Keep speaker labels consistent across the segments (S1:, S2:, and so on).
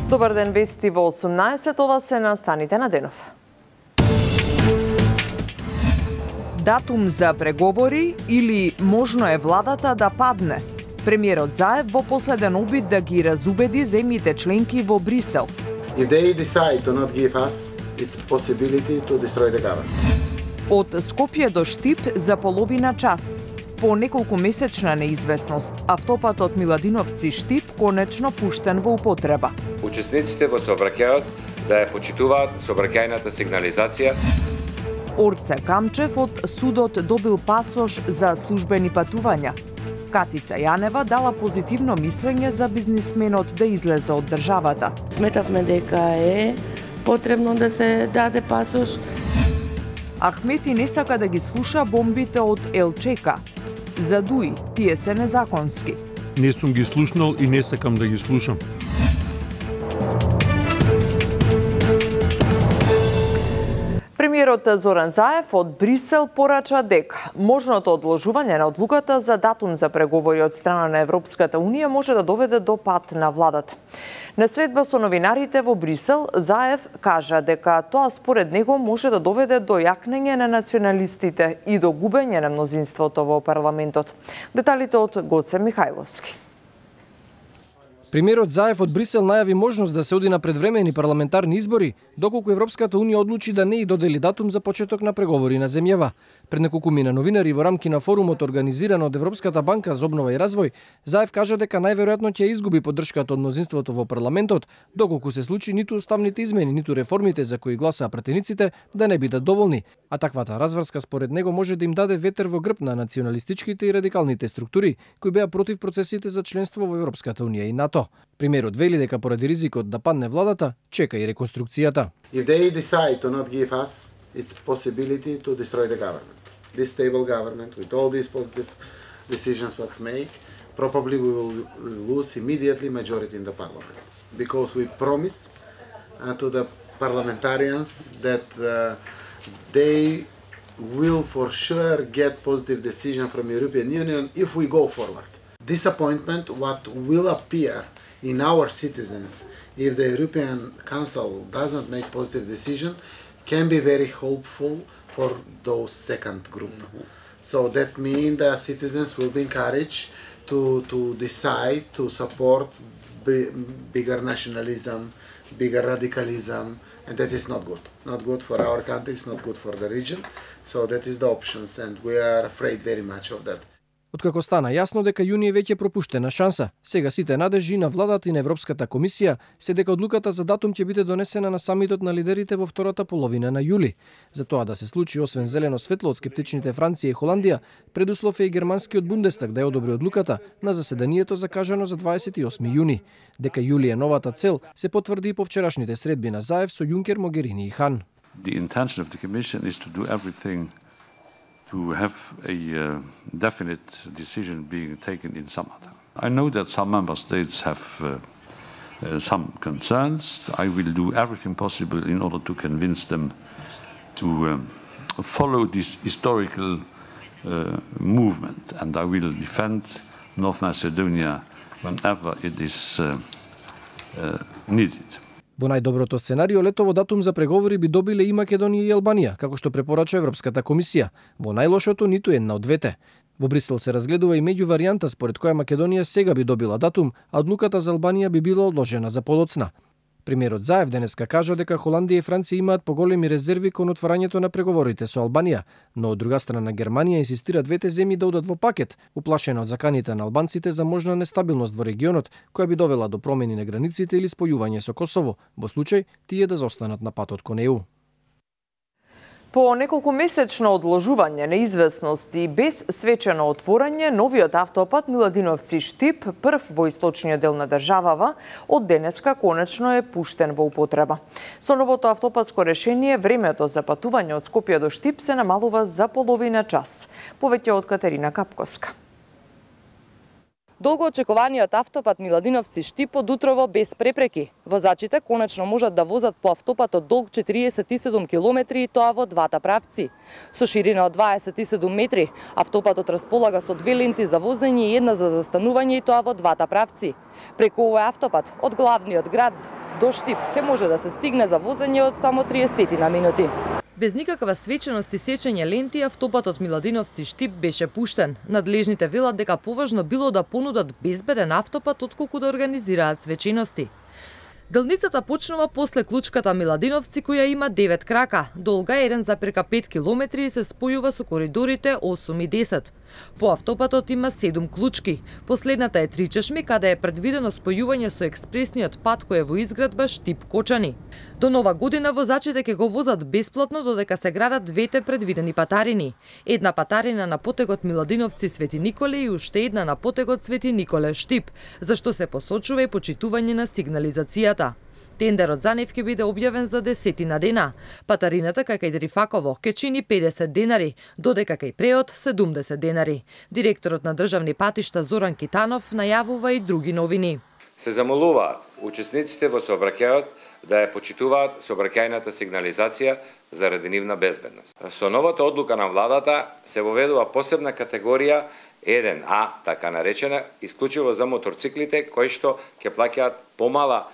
S1: Добар ден, вести во 18, ова се настаните на денов. Датум за преговори или можно е владата да падне? Премиерот Заев во последен обид да ги разубеди земјите членки во Брисел.
S2: If they decide to not give us, it's possibility to destroy the government.
S1: Од Скопје до Штип за половина час. По неколку месечна неизвестност, автопатот Миладиновци Штип конечно пуштен во употреба.
S3: Учесниците во сообраќајот да ја почитуваат сообраќајната сигнализација.
S1: Орце Камчев од судот добил пасош за службени патувања. Катица Јанева дала позитивно мислење за бизнисменот да излезе од државата.
S4: Сметавме дека е потребно да се даде пасош.
S1: Ахмети не сака да ги слуша бомбите од Елчека. За Дуи, тие се незаконски.
S5: Не сум ги слушнал и не сакам да ги слушам.
S1: Премиерот Зоран Заев од Брисел порача дека можното одложување на одлуката за датум за преговори од страна на Европската Унија може да доведе до пад на владата. На средба со новинарите во Брисел, Заев кажа дека тоа според него може да доведе до јакнење на националистите и до губење на мнозинството во парламентот. Деталите од Гоце Михајловски.
S6: Премиерот Заев од Брисел најави можност да се оди на предвремени парламентарни избори, доколку Европската Унија одлучи да не и додели датум за почеток на преговори на земјава. Пред неколку мина новинари во рамки на форумот организиран од Европската банка за обнова и развој, Заев кажа дека најверојатно ќе изгуби поддршката од мнозинството во парламентот, доколку се случи ниту уставните измени, ниту реформите за кои гласаа пратениците да не бидат доволни, а таквата разврска според него може да им даде ветер во грб на националистичките и радикалните структури кои беа против процесите за членство во Европската Унија и НАТО. Премиерот вели дека поради ризикот да падне владата, чека и реконструкцијата.
S2: If they decide to not give us, it's possibility to destroy the government. This stable government, with all these positive decisions what's made, probably we will lose immediately majority in the parliament. Because we promise to the parliamentarians that they will for sure get positive decision from European Union if we go forward. Disappointment what will appear in our citizens if the European Council doesn't make positive decision can be very helpful for those second group. So that means the citizens will be encouraged to decide to support bigger nationalism, bigger radicalism, and that is not good. Not good for our country, it's not good for the region. So that is the options and we are afraid very much of that.
S6: Откако стана јасно дека јуни е веќе пропуштена шанса, сега сите надежи на владата и на Европската комисија се дека одлуката за датум ќе биде донесена на самитот на лидерите во втората половина на јули. За тоа да се случи, освен зелено светло од скептичните Франција и Холандија, предуслов е и германскиот Бундестаг да ја одобри одлуката на заседанието закажано за 28 јуни. Дека јули е новата цел се потврди и по вчерашните средби на Заев со Јункер, Могерини и Хан.
S7: The intention of the Commission is to do everything to have a definite decision being taken in summer. I know that some member states have some concerns. I will do everything possible in order to convince them to follow this historical movement, and I will defend North Macedonia whenever it is needed.
S6: Во најдоброто сценарио, летово датум за преговори би добиле и Македонија и Албанија, како што препорача Европската комисија. Во најлошото ниту една од двете. Во Брисел се разгледува и меѓу варијанта според која Македонија сега би добила датум, а одлуката за Албанија би била одложена за подоцна. Премиерот Заев денеска кажа дека Холандија и Франција имаат поголеми резерви кон отварањето на преговорите со Албанија, но од друга страна Германија инсистира двете земји да одат во пакет, уплашена од заканите на албанците за можна нестабилност во регионот, која би довела до промени на границите или спојување со Косово, во случај тие да заостанат на патот кон ЕУ.
S1: По неколку месечно одложување, неизвестност и без свечено отворање, новиот автопат Миладиновци Штип, прв во источниот дел на државава, од денеска конечно е пуштен во употреба. Со новото автопатско решение, времето за патување од Скопје до Штип се намалува за половина час. Повеќе од Катерина Капковска.
S8: Долго очекуваниот автопат Миладиновци Штип од утрово без препреки. Возачите конечно можат да возат по автопатот долг 47 километри и тоа во двата правци. Со ширина од 27 метри, автопатот располага со две ленти за возење и една за застанување и тоа во двата правци. Преку овој автопат од главниот град до Штип ќе може да се стигне за возење од само 30 на минути. Без никаква свеченост и сечење ленти, автопатот Миладиновци-Штип беше пуштен. Надлежните велат дека поважно било да понудат безбеден автопат отколку да организираат свечености. Делницата почнува после клучката Миладиновци, која има 9 крака, долга 1,5 км и се спојува со коридорите 8 и 10. По автопатот има 7 клучки. Последната е 3 чешми, каде е предвидено спојување со експресниот пат кој е во изградба Штип-Кочани. До нова година возачите ќе го возат бесплатно додека се градат двете предвидени патарини. Една патарина на потегот Миладиновци-Свети Николе и уште една на потегот Свети Николе-Штип, зашто се посочува и почитување на сигнализацијата. Тендерот за нив ќе биде објавен за 10 дена. Патарината кај Дрифаково ќе чини 50 денари, додека кај Преот 70 денари. Директорот на државни патишта Зоран Китанов најавува и други новини.
S3: Се замолуваат учесниците во сообраќајот да ја почитуваат сообраќајната сигнализација заради нивна безбедност. Со новата одлука на владата се воведува посебна категорија 1А, така наречена, исклучиво за моторциклите кои што ќе плаќаат помала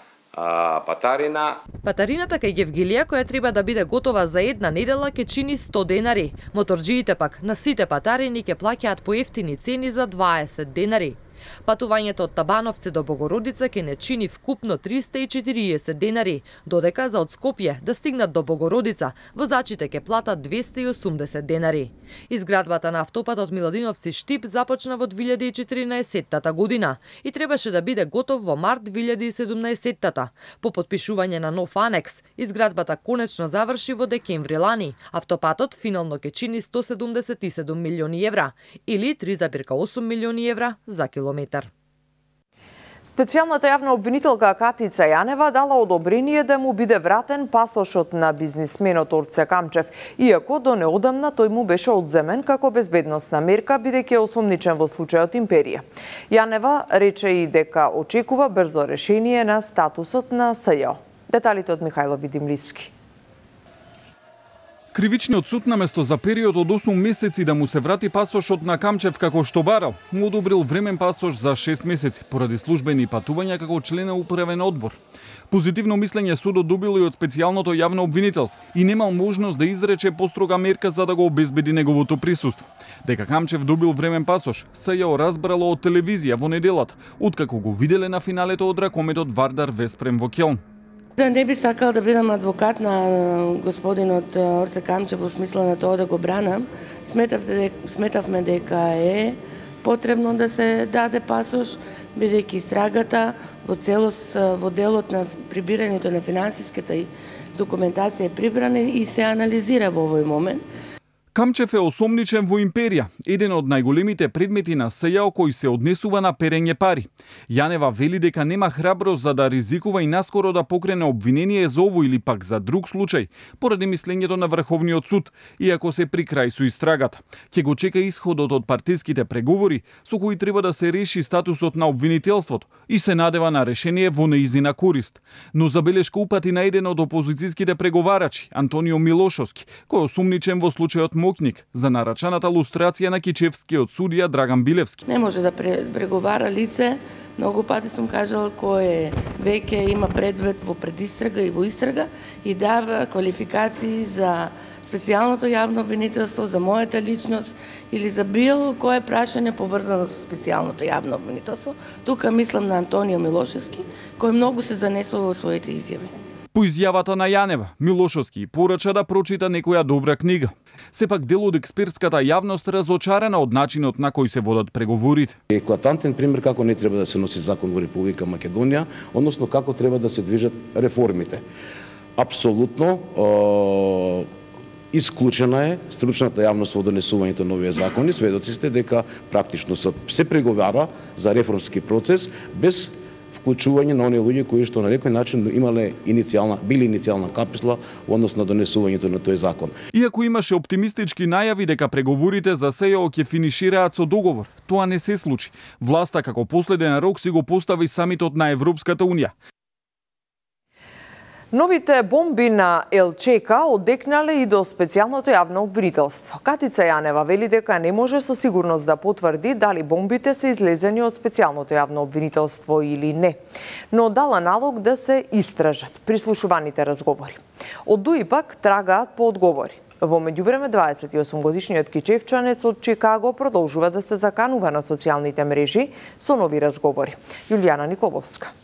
S3: патарина.
S8: Патарината кај Гевгилија, која треба да биде готова за една недела, ќе чини 100 денари. Моторџиите пак на сите патарини ќе плаќаат по ефтини цени за 20 денари. Патувањето од Табановци до Богородица ќе не чини вкупно 340 денари, додека за од Скопје да стигнат до Богородица, возачите ќе платат 280 денари. Изградбата на автопатот Миладиновци-Штип започна во 2014 година и требаше да биде готов во март 2017. По подпишување на нов анекс, изградбата конечно заврши во декември лани. Автопатот финално ќе чини 177 милиони евра или 3,8 милиони евра за километар.
S1: Специјалната јавна обвинителка Катица Јанева дала одобрение да му биде вратен пасошот на бизнисменот Орце Камчев, иако до неодамна тој му беше одземен како безбедносна мерка, бидејќи е осомничен во случајот Империја. Јанева рече и дека очекува брзо решение на статусот на СЈО. Деталите од Михајло Видимливски.
S9: Кривичниот суд наместо за период од 8 месеци да му се врати пасошот на Камчев како што барал, му одобрил времен пасош за 6 месеци поради службени патувања како член на управен одбор. Позитивно мислење судот добил и од специјалното јавно обвинителство и немал можност да изрече построга мерка за да го обезбеди неговото присуство. Дека Камчев добил времен пасош, СЈО разбрало од телевизија во неделата, откако го виделе на финалето од ракометот Вардар Веспрем во Ќелн.
S4: Да не би сакал да бидам адвокат на господинот Орце Камчев во смисла на тоа да го бранам. Сметавме дека е потребно да се даде пасош, бидејќи истрагата во целост во делот на прибирањето на финансиската документација е прибрана и се анализира во овој момент.
S9: Камчев е осомничен во Империја, еден од најголемите предмети на СЈО кој се однесува на перење пари. Јанева вели дека нема храброст за да ризикува и наскоро да покрене обвинение за ово или пак за друг случај, поради мислењето на Врховниот суд, иако се при крај со истрагата. Ќе го чека исходот од партиските преговори со кои треба да се реши статусот на обвинителството и се надева на решение во неизина корист. Но забелешка упати на еден од опозицијските преговарачи, Антонио Милошовски, кој е осумничен во случајот Мокник за нарачаната лустрација на кичевскиот судија Драган Билевски.
S4: Не може да преговара лице, многу пати сум кажал, кој веќе има предвид во предистрага и во истрага и дава квалификации за специјалното јавно обвинителство, за мојата личност или за било кое прашање поврзано со специјалното јавно обвинителство. Тука мислам на Антонио Милошевски, кој многу се занесува во своите изјави.
S9: По изјавата на Јанева, Милошовски порача да прочита некоја добра книга. Сепак дел од експертската јавност разочарана од начинот на кој се водат преговорите.
S10: Еклатантен пример како не треба да се носи закон во Република Македонија, односно како треба да се движат реформите. Апсолутно исклучена е стручната јавност во донесувањето на овие закони. Сведоци сте дека практично се преговара за реформски процес без вклучување на оние луѓе кои што на некој начин били иницијална каписла во однос на донесувањето на тој закон.
S9: Иако имаше оптимистички најави дека преговорите за СЈО ќе финишираат со договор, тоа не се случи. Власта како последен рок си го постави самитот на Европската унија.
S1: Новите бомби на ЛЧК одекнале и до специјалното јавно обвинителство. Катица Јанева вели дека не може со сигурност да потврди дали бомбите се излезени од специјалното јавно обвинителство или не, но дала налог да се истражат прислушуваните разговори. Од ДУИ пак трагаат по одговори. Во меѓувреме 28-годишниот кичевчанец од Чикаго продолжува да се заканува на социјалните мрежи со нови разговори. Јулијана Николовска.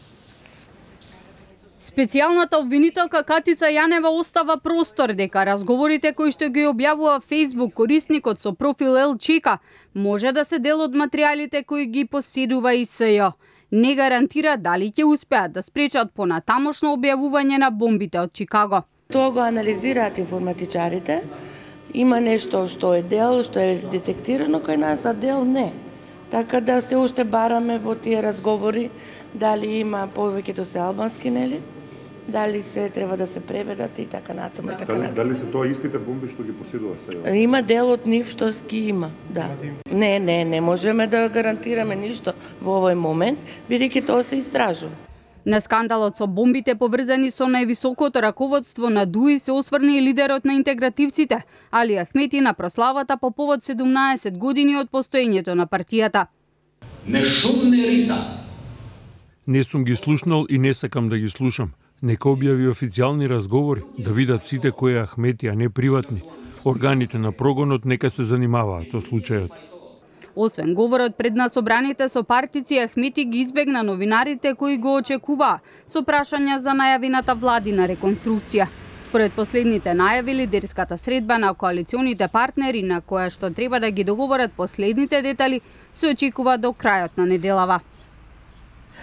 S11: Специјалната обвинителка Катица Јанева остава простор дека разговорите кои што ги објавува Facebook корисникот со профил ЛЧК може да се дел од материјалите кои ги поседува и СЈ. Не гарантира дали ќе успеат да спречат понатамошно објавување на бомбите од Чикаго.
S4: Тоа го анализираат информатичарите. Има нешто што е дел, што е детектирано кај нас, а дел не. Така да се уште бараме во тие разговори дали има повеќето се албански, нели? Дали се треба да се преведат и така натаму.
S12: Дали се тоа истите бомби што ги поседува сега?
S4: Има дел од нив што ги има, да. Не можеме да гарантираме ништо во овој момент, бидејќи тоа се истражува.
S11: На скандалот со бомбите поврзани со највисокото раководство на ДУИ се осврна и лидерот на интегративците, Али Ахмети, на прославата по повод 17 години од постоењето на партијата.
S13: Не шумне рита.
S5: Не сум ги слушнал и не сакам да ги слушам. Нека објави официјални разговори, да видат сите кои е Ахмети, а не приватни. Органите на прогонот нека се занимаваат со случајот.
S11: Освен говорот пред на собраните со партици, Ахмети ги избегна новинарите кои го очекуваа со прашања за најавената владина реконструкција. Според последните најави, лидерската средба на коалиционите партнери, на која што треба да ги договорат последните детали, се очекува до крајот на неделава.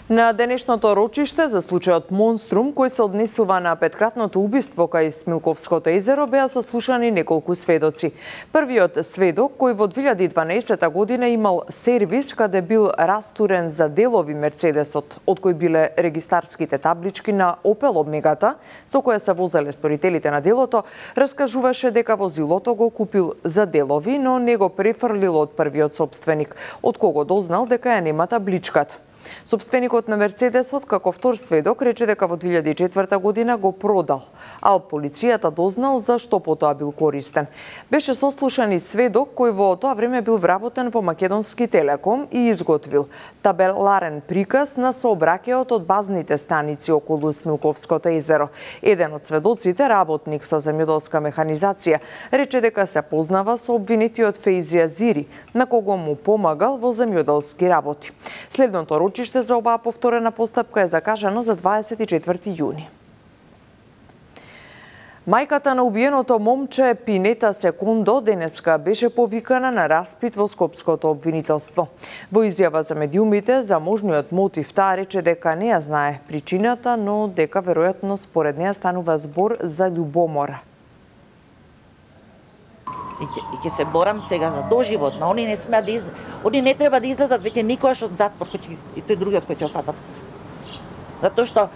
S1: На денешното рочиште за случајот Монструм, кој се однесува на петкратното убиство кај Смилковското езеро, беа сослушани неколку сведоци. Првиот сведок, кој во 2012 година имал сервис каде бил растурен за делови Мерцедесот, од кој биле регистарските таблички на Опел Омегата, со која се возеле сторителите на делото, раскажуваше дека возилото го купил за делови, но не го префрлил од првиот собственик, од кого дознал дека ја нема табличката. Собственикот на Мерцедесот, како втор сведок, рече дека во 2004 година го продал, а од полицијата дознал за што потоа бил користен. Беше сослушан и сведок кој во тоа време бил вработен во Македонски Телеком и изготвил табеларен приказ на сообраќајот од базните станици околу Смилковското езеро. Еден од сведоците, работник со земјоделска механизација, рече дека се познава со обвинетиот Фейзи Азири, на кого му помагал во земјоделски работи. Следното рочиште за оваа повторена постапка е закажано за 24 јуни. Мајката на убиеното момче Пинета Секундо денеска беше повикана на распит во Скопското обвинителство. Во изјава за медиумите за можниот мотив таа рече дека не ја знае причината, но дека веројатно според неа станува збор за љубомора.
S14: И ќе се борам сега за доживотно. Они не смеат да они не треба да излезат веќе никогаш од затвор и тој другиот кој ќе офатат. Затоа што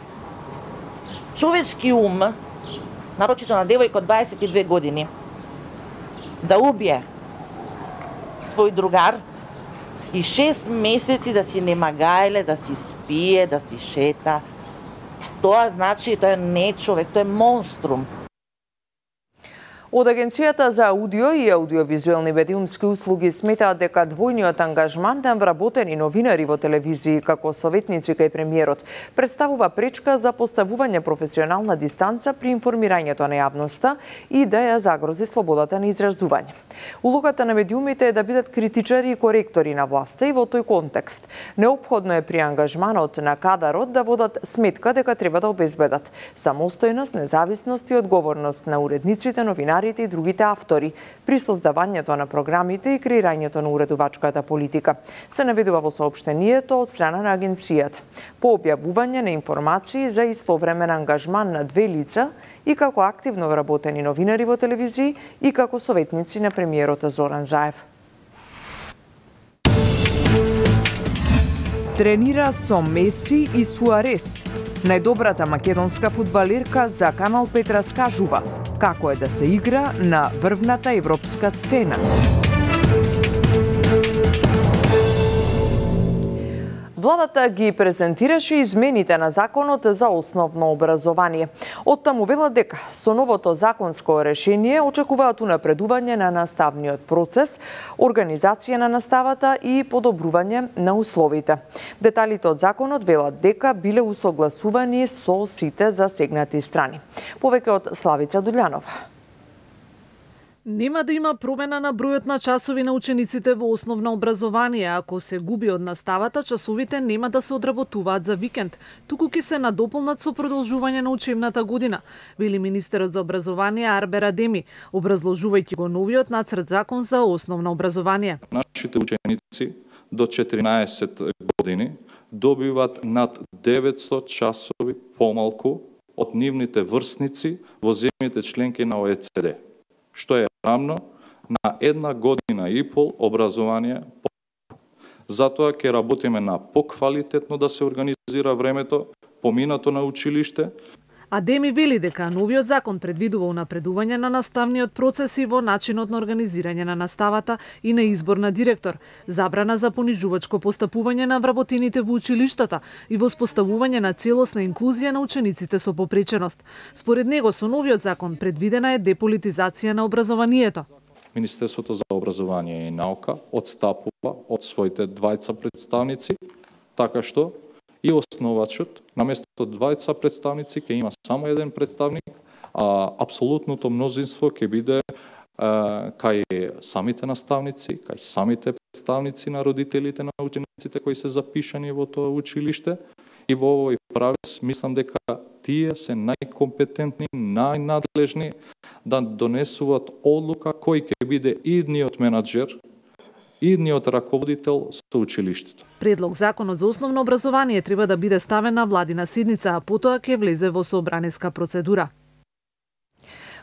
S14: човечки ум, нарочито на девојка од 22 години, да убие свој другар и 6 месеци да си нема гајле, да си спие, да си шета, тоа значи тоа не е човек, тоа е монструм.
S1: Од Агенцијата за аудио и аудиовизуелни медиумски услуги сметаат дека двојниот ангажман на вработени новинари во телевизии како советници кај премиерот представува пречка за поставување професионална дистанца при информирањето на јавноста и да ја загрози слободата на изразување. Улогата на медиумите е да бидат критичари и коректори на власта и во тој контекст неопходно е при ангажманот на кадарот да водат сметка дека треба да обезбедат самостојност, независност и одговорност на уредниците, новинарите и другите автори при создавањето на програмите и креирањето на уредувачката политика, се наведува во соопштението од страна на агенцијата. По објавување на информации за истовремен ангажман на две лица и како активно вработени новинари во телевизии и како советници на премиерот Зоран Заев. Тренира со Меси и Суарес. Најдобрата македонска фудбалерка за Канал 5 раскажува како е да се игра на врвната европска сцена. Владата ги презентираше измените на законот за основно образование. Оттаму велат дека со новото законско решение очекуваат унапредување на наставниот процес, организација на наставата и подобрување на условите. Деталите од законот велат дека биле усогласувани со сите засегнати страни. Повеќе од Славица Дуљанова.
S15: Нема да има промена на бројот на часови на учениците во основно образование. Ако се губи од наставата, часовите нема да се одработуваат за викенд, туку ќе се надополнат со продолжување на учебната година, вели министерот за образование Арбер Адеми, образложувајќи го новиот нацрт закон за основно образование.
S16: Нашите ученици до 14 години добиваат над 900 часови помалку од нивните врсници во земјите членки на ОЕЦД, што е рамно на 1 година и пол образование. Затоа ќе работиме на поквалитетно да се организира времето, поминато на училиште.
S15: Адеми вели дека новиот закон предвидува унапредување на наставниот процес и во начинот на организирање на наставата и на избор на директор, забрана за понижувачко постапување на вработените во училиштата и воспоставување на целосна инклузија на учениците со попреченост. Според него со новиот закон предвидена е деполитизација на образованието.
S16: Министерството за образование и наука одстапува од своите двајца представници, така што и основачот, наместо двајца представници, ќе има само еден представник, а апсолутното мнозинство ќе биде кај самите наставници, кај самите представници на родителите на учениците кои се запишани во тоа училиште. И во овој правец мислам дека тие се најкомпетентни, најнадлежни да донесуваат одлука кој ќе биде идниот менаџер, идниот раководител со училиштето.
S15: Предлог законот за основно образование треба да биде ставен на владина седница, а потоа ќе влезе во собраниска процедура.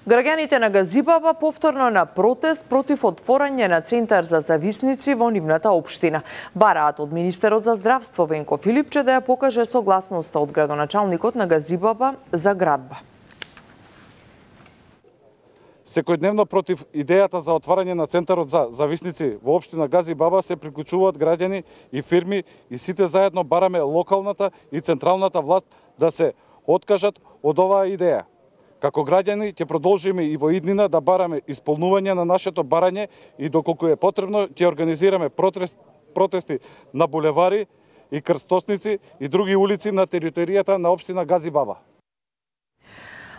S1: Граѓаните на Газибаба повторно на протест против отворање на центар за зависници во нивната општина. Бараат од министерот за здравство Венко Филипче да ја покаже согласноста од градоначалникот на Газибаба за градба.
S17: Секојдневно против идејата за отварање на центарот за зависници во општина Газибаба се приклучуваат граѓани и фирми и сите заедно бараме локалната и централната власт да се откажат од оваа идеја. Како граѓани ќе продолжиме и во иднина да бараме исполнување на нашето барање и доколку е потребно ќе организираме протести на булевари и крстосници и други улици на територијата на општина Газибаба.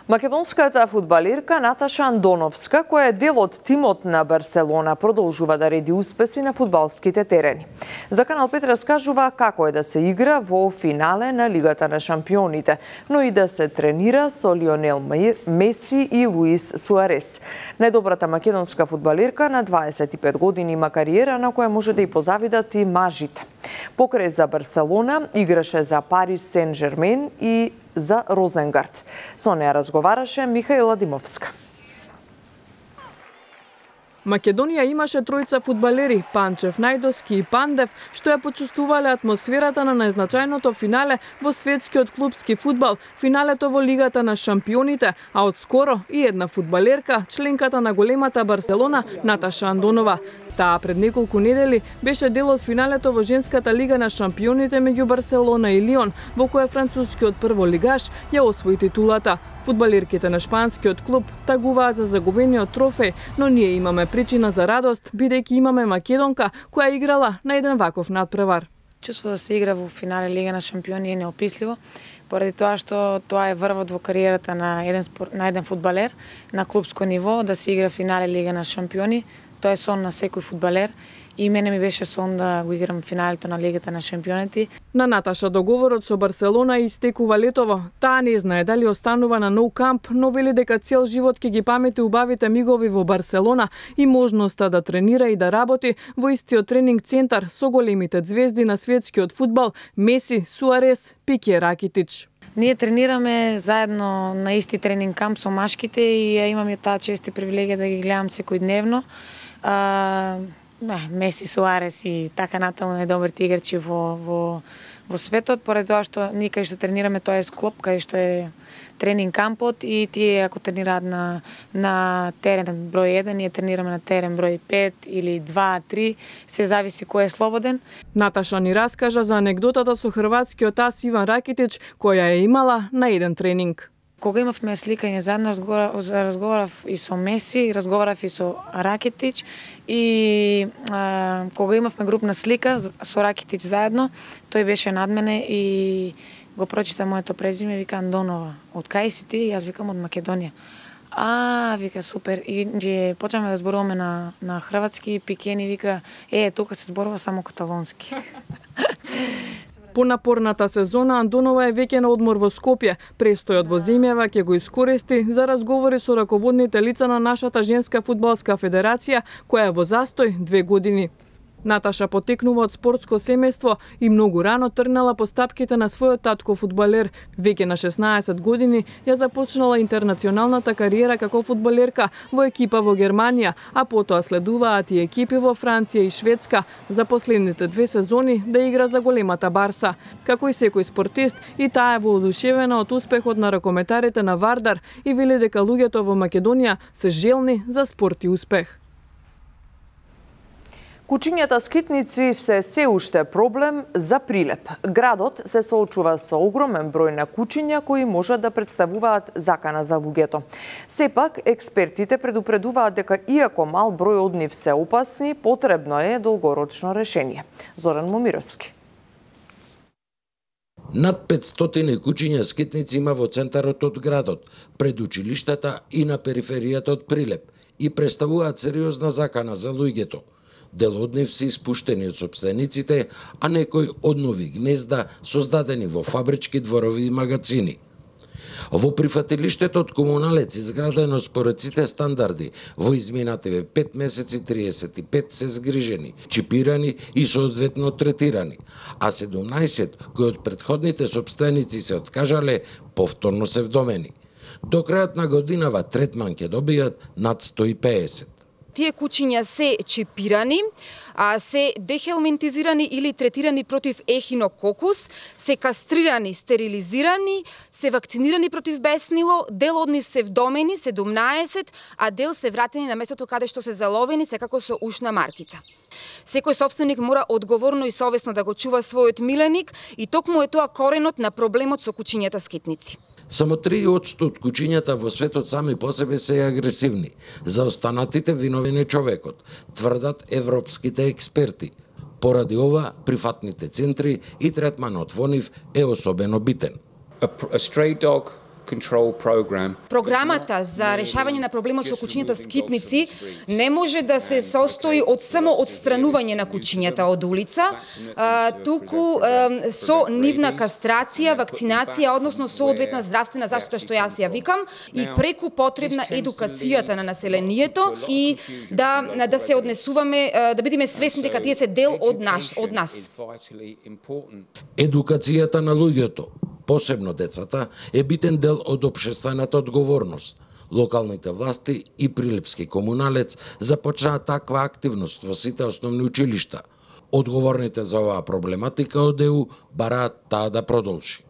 S1: Македонската фудбалерка Наташа Андоновска, која е дел од тимот на Барселона, продолжува да реди успеси на фудбалските терени. За Канал 5 раскажува како е да се игра во финале на Лигата на шампионите, но и да се тренира со Лионел Меси и Луис Суарес. Најдобрата македонска фудбалерка на 25 години има кариера на која може да и позавидат и мажите. Покрај за Барселона играше за Парис Сен-Жермен и за Розенгард. Со неја разговараше Михаила Димовска.
S18: Македонија имаше тројца фудбалери, Панчев, Најдовски и Пандев, што ја почувствувале атмосферата на најзначајното финале во светскиот клупски фудбал, финалето во Лигата на шампионите, а одскоро и една фудбалерка, членката на големата Барселона, Наташа Андонова. Таа пред неколку недели беше дел од финалето во женската Лига на шампионите меѓу Барселона и Лион, во која францускиот прволигаш ја освои титулата. Фудбалерките на шпанскиот клуб тагуваа за загубениот трофеј, но ние имаме причина за радост, бидејќи имаме македонка која играла на еден ваков надпревар.
S19: Чувство да се игра во финале Лига на шампиони е неописливо, поради тоа што тоа е врвот во кариерата на еден фудбалер на клубско ниво, да се игра финале Лига на шампиони. Тоа е сон на секој фудбалер и мене ми беше сон да го играм финалето на Лигата на шампионите.
S18: На Наташа договорот со Барселона истекува летово. Таа не знае дали останува на Nou Camp, но вели дека цел живот ќе ги памети убавите мигови во Барселона и можноста да тренира и да работи во истиот тренинг центар со големите звезди на светскиот фудбал Меси, Суарес, Пике, Ракитич.
S19: Ние тренираме заедно на исти тренинг камп со машките и ја имам таа чест и привилегија да ги гледам секојдневно. Меси, Суарес и така натаму најдобрите играчи во во светот, поради тоа што ние кај што тренираме тоа е склоп, кај што е тренинг кампот и тие ако тренираат на терен број 1, ние тренираме на терен број 5 или 2, 3, се зависи кој е слободен.
S18: Наташа ни раскажа за анегдотата со хрватскиот ас Иван Ракитич, која е имала на еден тренинг.
S19: Кога имавме сликање заедно, разговарав и со Меси, разговарав и со Ракитич и кога имавме групна слика со Ракитич заедно, тој беше над мене и го прочита моето презиме, вика Андонова. Од кај си ти? Јас викам од Македонија. Вика супер. И почнаме да зборуваме на хрватски, Пикени вика, тука се зборува само каталонски.
S18: По напорната сезона Андонова е веќе на одмор во Скопје. Престојот во земјава ќе го искористи за разговори со раководните лица на нашата женска фудбалска федерација, која е во застој 2 години. Наташа потекнува од спортско семејство и многу рано тргнала по стапките на својот татко фудбалер. Веќе на 16 години ја започнала интернационалната кариера како фудбалерка во екипа во Германија, а потоа следуваат и екипи во Франција и Шведска, за последните 2 сезони да игра за големата Барса. Како и секој спортист, и таа е воодушевена од успехот на ракометарите на Вардар и вели дека луѓето во Македонија се желни за спорт и успех.
S1: Кучињата скитници се уште проблем за Прилеп. Градот се соочува со огромен број на кучиња кои можат да представуваат закана за луѓето. Сепак, експертите предупредуваат дека иако мал број од нив се опасни, потребно е долгорочно решение. Зоран Момировски.
S20: Над 500 кучиња скитници има во центарот од градот, пред училиштата и на периферијата од Прилеп и представуваат сериозна закана за луѓето. Дел од нив се испуштени од сопствениците, а некои од нови гнезда создадени во фабрички дворови и магазини. Во прифатилиштето од комуналец изградено според сите стандарди, во изминативе 5 месеци 35 се згрижени, чипирани и соодветно третирани, а 17 кои од предходните сопственици се откажале, повторно се вдомени. До крајот на годинава третман ќе добијат над 150.
S21: Тие кучиња се чипирани, се дехелминтизирани или третирани против ехинококус, се кастрирани, стерилизирани, се вакцинирани против беснило, дел од нив се вдомени, 17, а дел се вратени на местото каде што се заловени, секако со ушна маркица. Секој собственик мора одговорно и совесно да го чува својот миленик и токму е тоа коренот на проблемот со кучињата скитници.
S20: Само 3% од кучињата во светот сами по себе се агресивни. За останатите виновен е човекот, тврдат европските експерти. Поради ова, прифатните центри и третманот во нив е особено битен.
S21: Програмата за решавање на проблемот со кучињата скитници не може да се состои од само отстранување на кучињата од улица, туку со нивна кастрација, вакцинација, односно соодветна здравствена заштита, што јас ја викам, и преку потребна едукацијата на населението и да се однесуваме, да бидеме свесни дека тие се дел од нас.
S20: Едукацијата на луѓето, посебно децата, е битен дел од општествената одговорност. Локалните власти и Прилепски комуналец започнаа таква активност во сите основни училишта. Одговорните за оваа проблематика од ЕУ бараат таа да продолжи.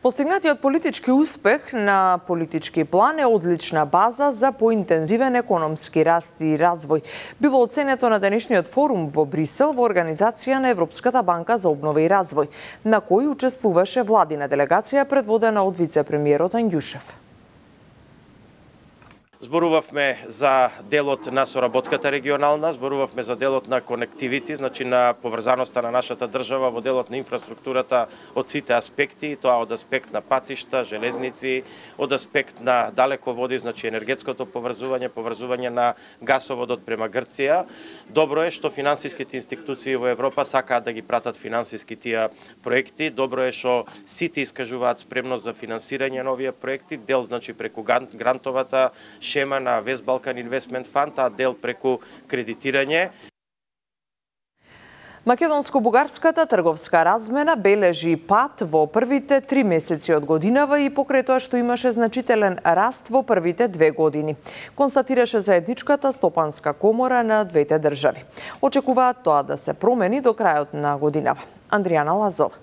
S1: Постигнатиот политички успех на политички план е одлична база за поинтензивен економски раст и развој. Било оценето на денешниот форум во Брисел во организација на Европската банка за обнова и развој, на кој учествуваше владина делегација предводена од вице-премиерот Ангјушев.
S22: Зборувавме за делот на соработката регионална, зборувавме за делот на конективити, значи на поврзаноста на нашата држава во делот на инфраструктурата од сите аспекти, тоа од аспект на патишта, железници, од аспект на далеководи, значи енергетското поврзување на гасоводот према Грција. Добро е што финансиските институции во Европа сакаат да ги пратат финансиски тие проекти. Добро е што сите искажуваат спремност за финансирање на овие проекти, дел значи преку грантовата шема на West Balkan Investment Fund, а дел преку кредитирање.
S1: Македонско-бугарската трговска размена бележи пат во првите 3 месеци од годинава и покрај тоа што имаше значителен раст во првите 2 години. Констатираше заедничката стопанска комора на двете држави. Очекуваат тоа да се промени до крајот на годинава. Андријана Лазова.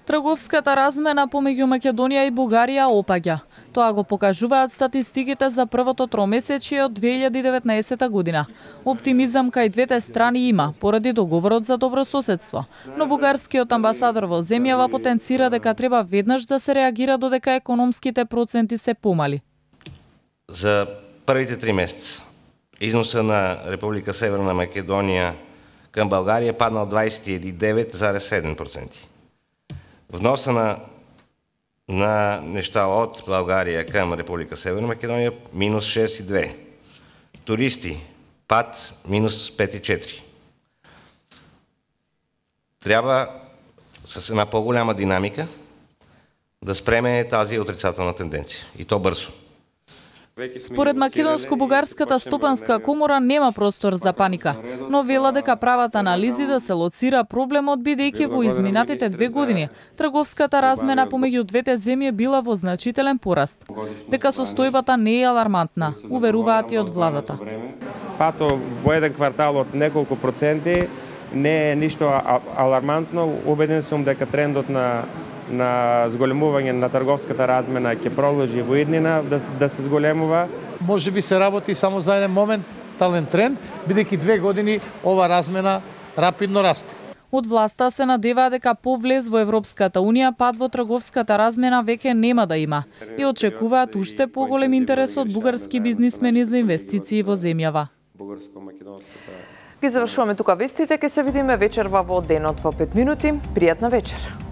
S2: Трговската размена помеѓу Македонија и Бугарија опаѓа. Тоа го покажуваат статистиките за првото тромесечие од 2019 година. Оптимизам кај двете страни има, поради договорот за добрососедство. Но бугарскиот амбасадор во земјава потенцира дека треба веднаш да се реагира додека економските проценти се помали.
S7: За првите 3 месеца износа на Република Северна Македонија кај Българија паднал 29,7%. Вноса на нешта од Българија кај Република Северна Македонија минус 6,2. Туристи пад минус 5,4. Треба с една по-голяма динамика да спреме тази отрицателна тенденција и то брзо.
S2: Според Македонско-бугарската стопанска комора нема простор за паника, но вела дека прават анализи да се лоцира проблемот бидејќи во изминатите 2 години трговската размена помеѓу двете земји била во значителен пораст. Дека состојбата не е алармантна, уверуваат и од владата.
S23: Пато во еден квартал од неколку проценти не е ништо алармантно. Убеден сум дека трендот на зголемување на трговската размена ќе продолжи во иднина да се зголемува.
S24: Може би се работи само за еден моментален тренд, бидејќи 2 години ова размена рапидно расте.
S2: Од власта се надеваа дека по влез во Европската Унија пад во трговската размена веќе нема да има и очекуваат уште поголем интерес од бугарски бизнисмени за инвестиции во земјава.
S1: Ги завршуваме тука вестите, ќе се видиме вечерва во денот во 5 минути. Пријатна вечер.